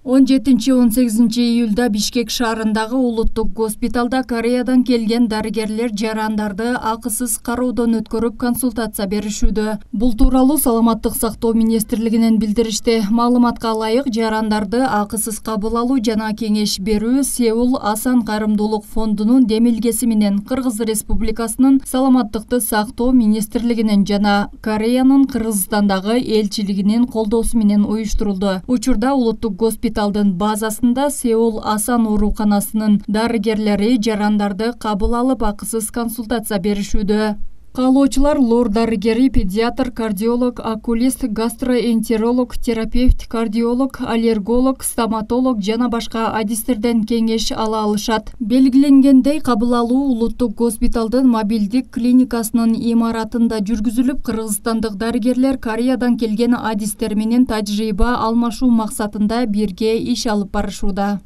17-18 июлда Бишкек шаарындагы улуттук госпиталда Кореядан келген дарыгерлер жарандарды акысыз кароодон өткөрүп консультация беришүүдө. Бул тууралуу Саламаттык сактоо министрлигинен билдиришти. Маалыматка ылайык, жарандарды акысыз кабыл алуу жана кеңеш берүү Сеул Асан кайрымдуулук фондунун демилгеси менен Кыргыз Республикасынын Саламаттыкты сактоо министрлигинин жана Кореянын Кыргызстандагы элчилигинин колдоосу менен уюштурулду. Учурда улуттук госпиталдын базасында Сеул Асан ооруканасынын дарыгерлери жарандарды кабыл алып акысыз консультация беришүүдө. Каалоочулар лор дарыгери, педиатр, кардиолог, окулист, гастроэнтеролог, терапевт, кардиолог, аллерголог, стоматолог жана башка адистерден кеңеш ала алышат. Белгиленгендей, кабыл алуу улуттук госпиталдын мобилдик клиникасынын имаратында жүргүзүлүп, кыргызстандык дарыгерлер Кореядан келген адистер менен тажрыйба алмашуу максатында бирге иш алып барышууда.